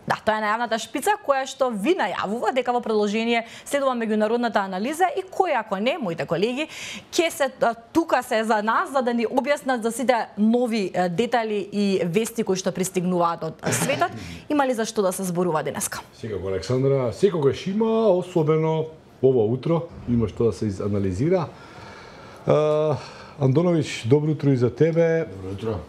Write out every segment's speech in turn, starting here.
Да, тоа е најавната шпица која што ви најавува дека во продолжение следува меѓународната анализа и кој ако не, моите колеги, ќе се тука се за нас за да ни објаснат за сите нови детали и вести кои што пристигнуваат од светот. Има ли за што да се зборува денеска? Секако, Александра, секогаш има, особено ова утро, има што да се анализира. Андоновиќ, добро утро и за тебе. Добро утро.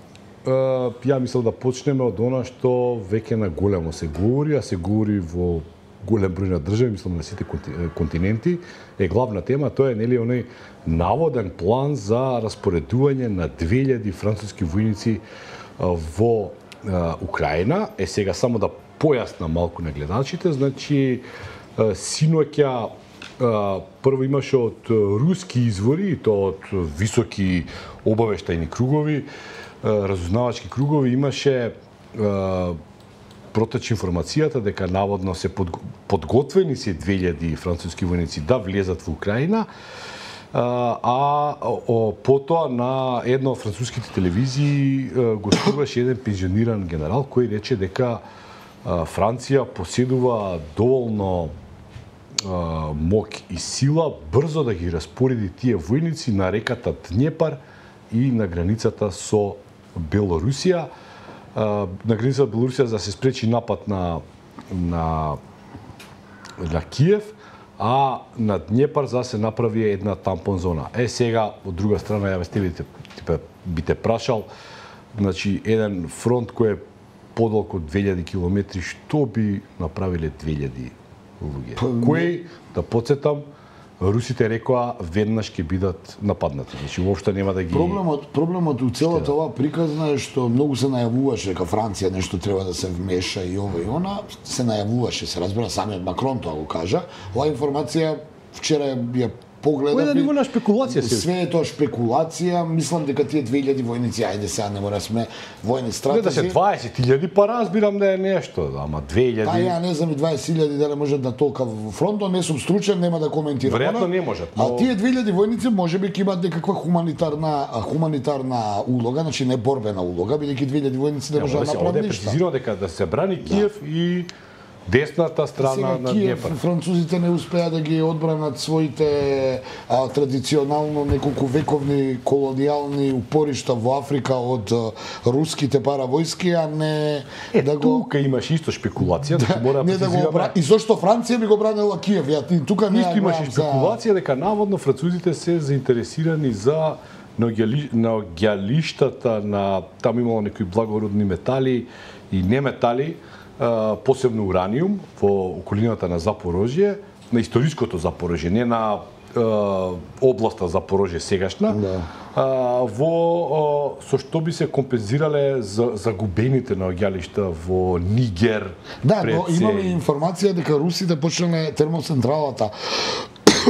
Ја мислам да почнеме од она што веќе на големо се говори, а се говори во голем број на држави, мислам на сите континенти, е главна тема, тоа е нели оној наводен план за распоредување на 2000 француски војници во Украина. Сега само да појаснам малку на гледачите, значи синоќа прво имаше од руски извори, и тоа од високи обавештајни кругови, разузнавачки кругови, имаше протече информацијата дека наводно се подготвени се 2000 француски војници да влезат во Украина, потоа на една од француските телевизии гостуваше еден пензиониран генерал кој рече дека Франција поседува доволно мок и сила брзо да ги распореди тие војници на реката Днепар и на границата со Белорусија, на границата Белорусија за да се спречи напад на Киев, а на Днепар за да се направи една тампон зона. Сега, од друга страна, ја би те прашал, значи, еден фронт кој е подолг од 2000 километри, што би направиле 2000 луѓе? Кој, да подсетам, русите рекоа веднаш ќе бидат нападнати. Значи воопшто нема да ги Проблемот у целата оваа приказна е што многу се најавуваше дека Франција нешто треба да се вмеша и ова и она, се најавуваше, се разбира, самиот Макрон тоа го кажа. Оваа информација вчера ја погледав. Кој да ниво на спекулација се? Све е тоа спекулација, мислам дека тие 2000 војници, ајде сега не мора сме војни стратези. Не да се 20.000, па разбирам да е нешто, ама 2000. Па ја не знам и 20.000 дали можат да толка во фронтот, не сум стручен, нема да коментирам. Веројатно не можат. А тие 2000 војници можеби ќе имаат некаква хуманитарна улога, значи не борбена улога, бидејќи 2000 војници не можат да направат ништо. Прецизирано дека да се брани Киев и десната страна на Днепар. Французите не успеа да ги одбранат своите традиционално неколку вековни колонијални упоришта во Африка од руските паравојски, а не да го... Тука имаш исто шпекулација, да мора да прецизираме. И зошто Франција би го бранила Киев? Тука не исто имаше шпекулација дека наводно французите се заинтересирани за наоѓалиштата на таму имало некои благородни метали и неметали, посебно ураниум во околината на Запорожје, на историското Запорожје, не на областа Запорожје сегашна, со што би се компензирале загубените наоѓалишта во Нигер. Да, но имаме информација дека русите почнале термоцентралата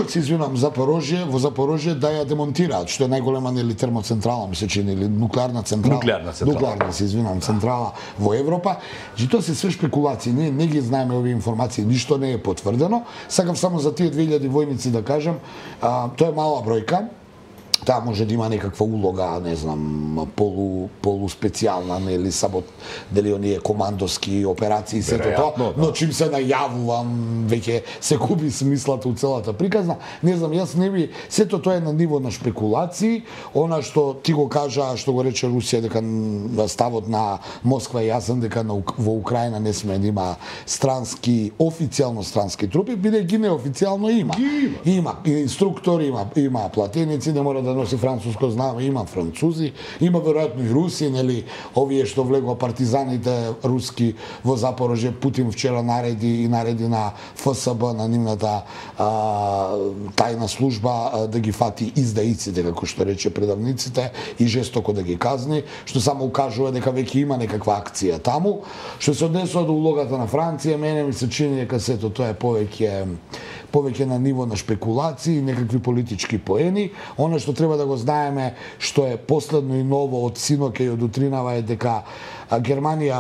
се извинувам, во Запорожје да ја демонтираат, што е најголема нели термоцентрала, ми се чини, или нуклеарна централа. Нуклеарна, се извинувам, централа во Европа. Значи тоа се све шпекулации, ние не ги знаеме овие информации, ништо не е потврдено. Сакам само за тие 2000 војници да кажам, тоа е мала бројка. Таа може да има некаква улога, не знам, полуспецијална, нели, дали оние командоски операции, сето тоа, но чим се најавувам, веќе се губи смислата у целата приказна. Не знам, јас не би, сето тоа е на ниво на шпекулации, она што ти го кажа, што го рече Русија, дека ставот на Москва е јасен, дека во Украина не сме да има официјално странски трупи, бидејќи неофицијално има. Има инструктори, има платеници, не мора да носи француско знаме, има французи, има веројатно и руси, нели, овие што влегува партизаните руски во Запорожје, Путин вчера нареди на ФСБ, на нивната тајна служба да ги фати издаиците, како што рече предавниците, и жестоко да ги казни, што само укажува дека веќе има некаква акција таму. Што се однесува до улогата на Франција, мене ми се чини дека сето тоа е повеќе на ниво на шпекулации, некакви политички поени. Она што треба да го знаеме, што е последно и ново од синоќа и од утринава е дека Германија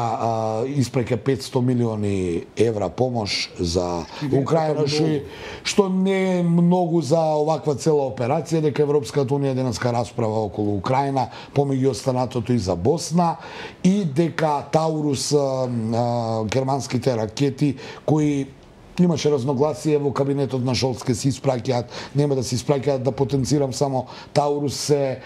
испреќа 500 милиони евра помош за Украина, што не е многу за оваква цела операција, дека Европската унија денеска расправа околу Украина, помеѓу останатото и за Босна, и дека Таурус, германските ракети, кои имаше разногласие во кабинетот на Шолц ке се испраќаат, нема да се испраќаат, да потенцирам само Таурус се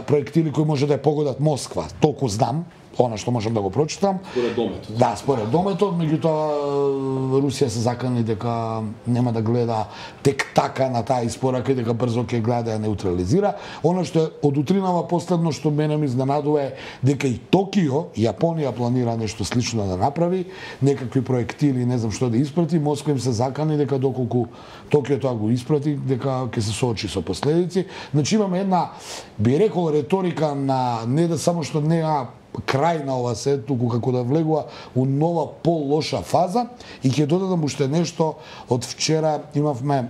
проектили кои може да ја погодат Москва, толку знам, она што можам да го прочитам. Според дометот. Да, според дометот, меѓутоа Русија се закани дека нема да гледа тек така на таа испорака и дека брзо ќе гледа да ја неутрализира. Она што од утринава последно што мене ми изненадува е дека и Токио, Јапонија планира нешто слично да направи, некакви проектили, не знам што да испрати, Москва им се закани дека доколку Токио тоа го испрати, дека ќе се соочи со последици. Значи имаме една, би рекол, риторика на не да само што неа крај на ова се, туку како да влегува у нова по-лоша фаза. И ќе додадам уште нешто. Од вчера имавме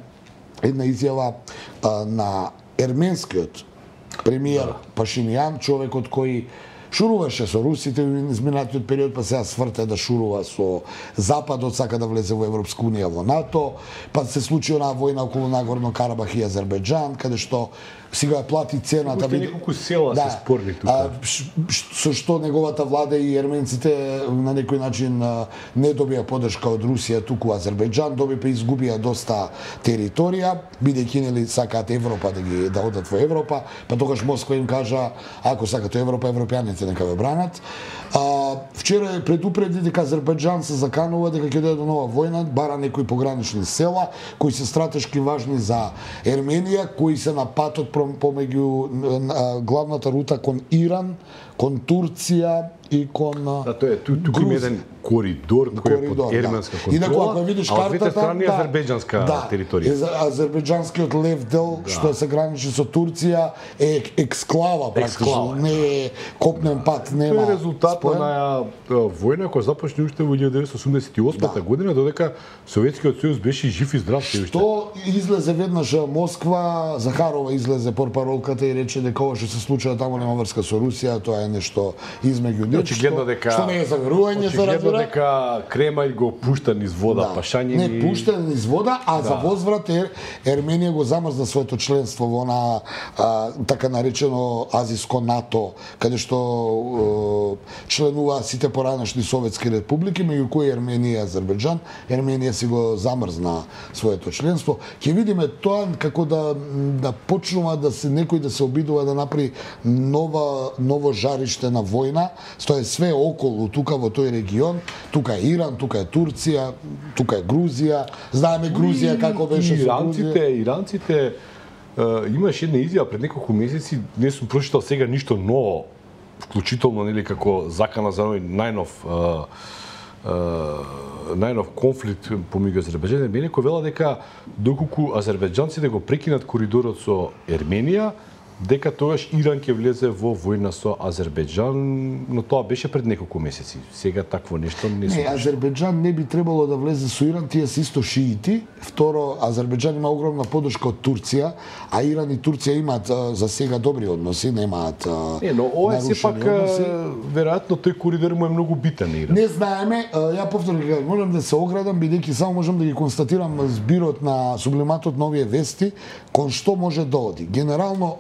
една изјава на ерменскиот премиер Пашинян, човекот кој шуруваше со русите во изминатиот период, па сега сврте да шурува со Западот, сака да влезе во Европска унија, во НАТО, па се случи онаа војна околу Нагорно Карабах и Азербејџан, каде што сега плати цената. Уште неколку села се спорни тука. Со што неговата влада и ерменците на некој начин не добија поддршка од Русија, туку Азербејџан доби, па изгубија доста територија, бидејќи нели сакаат Европа да одат во Европа, па тогаш Москва им кажа, ако сакате Европа, европјаните нека ве бранат. Вчера предупреди дека Азербејџан се заканува дека ќе дојде до нова војна, бара некои погранични села кои се стратешки важни за Ерменија, кои се на патот помеѓу главната рута кон Иран, кон Турција и кон Да, тоа е туку има еден коридор кој е под ерменска контрола. Инаку ако видиш картата, од двете страни азербејџанска територија. Азербејџанскиот лев дел што се граничи со Турција е ексклава практично, не е копнен пат, нема. Тоа е резултат на војна која започна уште во 1988 година, додека Советскиот сојуз беше жив и здрав се уште. Што излезе веднаш Москва, Захарова излезе портпаролката и рече дека ова што се случува таму нема врска со Русија, тоа е нешто измеѓу нешто. Очигледно дека што не е заверување, се разбира. Очигледно дека Кремљ го пушта низ вода, Пашањин. Не пушта низ вода, а за возврат Ерменија го замрзна своето членство во на така наречено азиско НАТО, каде што членува сите поранешни советски републики, меѓу кои Ерменија и Азербејџан. Ерменија си го замрзна своето членство. Ќе видиме тоа како да почнува да се некој да се обидува да направи ново жариште на војна. Тоа е све околу тука во тој регион. Тука е Иран, тука е Турција, тука е Грузија. Знаеме Грузија како беше со Грузија. Иранците имаш една изјава пред неколку месеци, не сум прочитал сега ништо ново, вклучително нели како закана за најнов конфликт помеѓу Азербејџан и Ерменија, кој вела дека доколку азербејџанците го прекинат коридорот со Ерменија, дека тогаш Иран ќе влезе во војна со Азербејџан, но тоа беше пред неколку месеци. Сега такво нешто не се. Не, Азербејџан не би требало да влезе со Иран, тие се исто шиити. Второ, Азербејџан има огромна поддршка од Турција, а Иран и Турција имаат за сега добри односи, немаат Не, но ова е сепак веројатно тој коридор му е многу битен Иран. Не знаеме, ја повторно ќе можам да се оградам бидејќи само можам да ги констатирам збирот на сублиматот на овие вести кон што може да оди. Генерално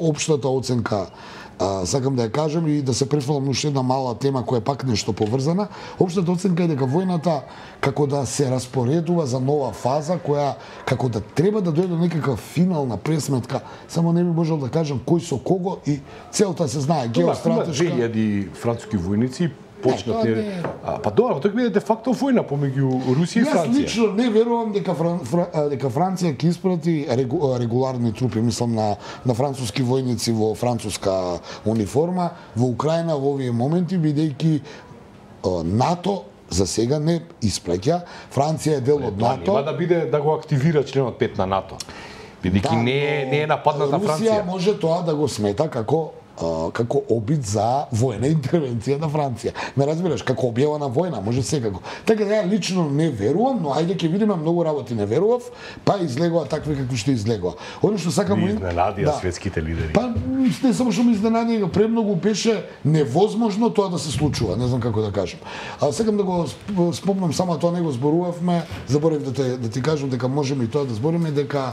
општата оценка, сакам да ја кажам и да се префрлам на уште една мала тема која е пак нешто поврзана. Општата оценка е дека војната како да се распоредува за нова фаза која како да треба да дојде до некаква финална пресметка, само не би можел да кажам кој со кого и целта се знае геостратешка. 2000 француски војници почнат па добро, тоа биде де факто војна помеѓу Русија и Франција. Јас лично не верувам дека Франција ќе испрати регуларни трупи, мислам на француски војници во француска униформа во Украина во овие моменти, бидејќи НАТО за сега не испраќа. Франција е дел од НАТО. Нема да биде да го активира членот 5 на НАТО. Бидејќи не е нападната Франција. Русија може тоа да го смета како како обид за воена интервенција на Франција. Ме разбираш, како објава на војна, може секако. Така да ја лично не верувам, но ајде ќе видиме, многу работи не верував, па излегува такви какви што излегува. Оно што сакам изненадија светските лидери. Па не само што ме изненадија, премногу беше невозможно тоа да се случува, не знам како да кажам. А сакам да го спомнам само тоа, не го зборувавме, заборев да ти кажам дека можеме и тоа да збориме, дека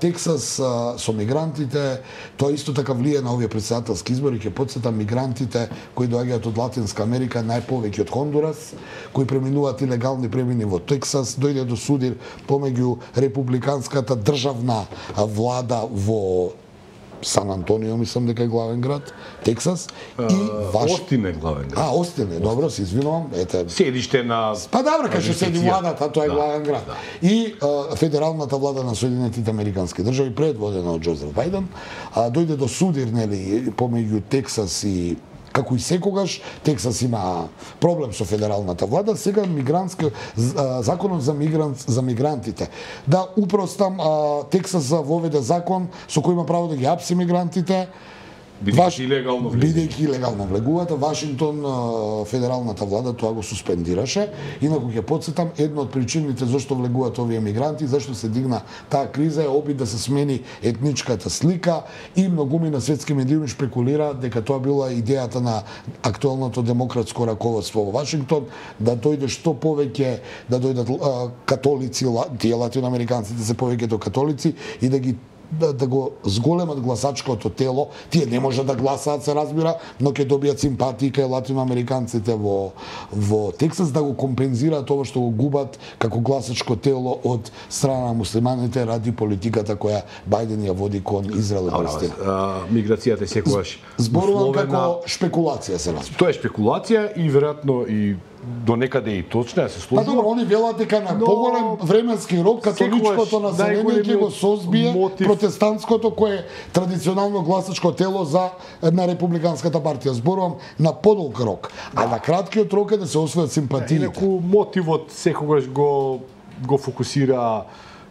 Тексас со мигрантите, тоа исто така влие на овие претседателски избори. Ќе потсетам, мигрантите кои доаѓаат од Латинска Америка, најповеќе од Хондурас, кои преминуваат илегални премини во Тексас, дојде до судир помеѓу републиканската државна влада во Сан Антонио, мислам дека е главен град, Тексас, и Остин е главен град. Остин е, добро, се извинувам. Седиште на... Па добро, кај што седи владата, тоа е главен град. Да. И федералната влада на Соединетите Американски држави, предводена од Џозеф Бајден, дојде до судир, нели, помеѓу Тексас и како и секогаш, Тексас има проблем со федералната влада, сега законот за мигрантите. Да упростам, Тексас воведе закон со кој има право да ги апси мигрантите, бидејќи илегално влегуваат. Вашингтон, федералната влада тоа го суспендираше. Инаку ќе потсетам, една од причините зашто влегуваат овие мигранти, зашто се дигна таа криза, е обид да се смени етничката слика, и многумина светски медиуми шпекулираат дека тоа била идејата на актуелното демократско раководство во Вашингтон, да дојде што повеќе, да дојдат католици, тие латиноамериканците се повеќето католици, и да го зголемат гласачкото тело. Тие не може да гласаат, се разбира, но ќе добијат симпатии кај латиноамериканците во Тексас, да го компензираат ова што го губат како гласачко тело од страна на муслиманите ради политиката која Бајден ја води кон Израел и Палестина. Миграцијата секогаш зборувам како шпекулација, се разбира. Тоа е шпекулација и веројатно и до некаде и точно се сложува. Па добро, они велат дека на поголем временски рок католичкото население ќе го созбие протестантското, кое е традиционално гласачко тело на републиканската партија. Зборувам на подолг рок, а на краткиот рок е да се освојат симпатиите. Инаку мотивот секогаш го фокусира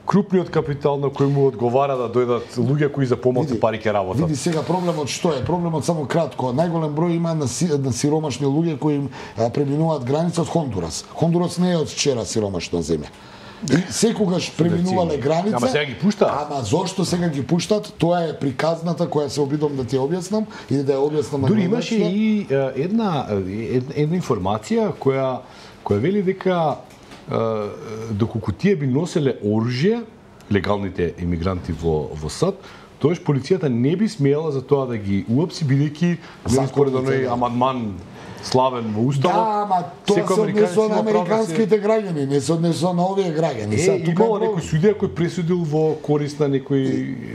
крупниот капитал на кој му одговара да дојдат луѓе кои за помалку пари ќе работат. Види сега проблемот што е? Проблемот само кратко. Најголем број има на сиромашни луѓе кои преминуваат граница од Хондурас. Хондурас не е од вчера сиромашна земја. И секогаш преминувале граница. Ама сега ги пуштаат. Ама зошто сега ги пуштат? Тоа е приказната која се обидам да ти објаснам и да ја објаснам на. Дури имаше и една информација која вели дека доколку тие би носеле оружје, легалните имигранти во САД, тоаш полицијата не би смеела за тоа да ги уапси, бидејќи според оној амандман славен во Уставот. Да, ама тоа се однесува на американските граѓани, не се однесува на овие граѓани. Имало некој судија кој пресудил во корист на некој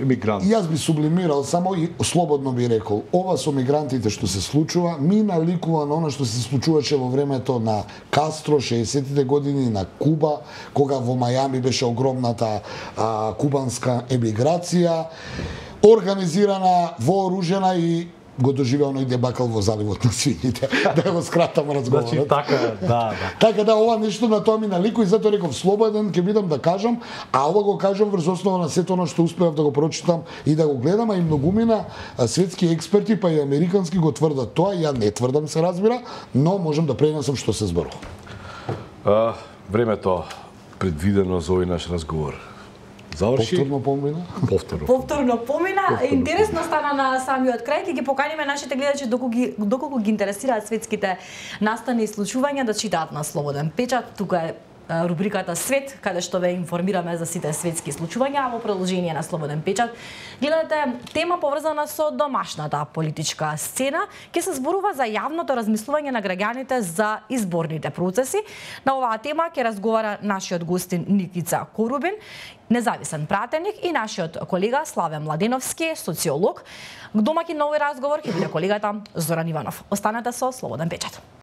емигрант. Јас би сублимирал, само и слободно би рекол, ова со мигрантите што се случува, ми наликува на она што се случуваше во времето на Кастро, 60-тите години, на Куба, кога во Мајами беше огромната кубанска емиграција, организирана, вооружена, и го доживеа оној дебакал во заливот на свињите. Да го скратам разговорот. Значи така, да. Така да, ова нешто на тоа ми наликува, и затоа реков слободен ќе бидам да кажам, а ова го кажам врз основа на сето оно што успеав да го прочитам и да го гледам, а и многумина светски експерти, па и американски го тврдат тоа. Ја не тврдам, се разбира, но можам да пренесам што се зборува. Времето предвидено за овој наш разговор заврши. Повторно помина. Интересно стана на самиот крај. Ќе ги поканиме нашите гледачи доколку ги интересираат светските настани и случувања да читаат на Слободен печат. Тука е рубриката Свет, каде што ве информираме за сите светски случувања, а во продолжение на Слободен печат гледате тема поврзана со домашната политичка сцена. Ќе се зборува за јавното размислување на граѓаните за изборните процеси. На оваа тема ќе разговара нашиот гостин Никица Корубин, независен пратеник, и нашиот колега Славе Младеновски, социолог. Домаќин на овој разговор ќе биде колегата Зоран Иванов. Останете со Слободен печат.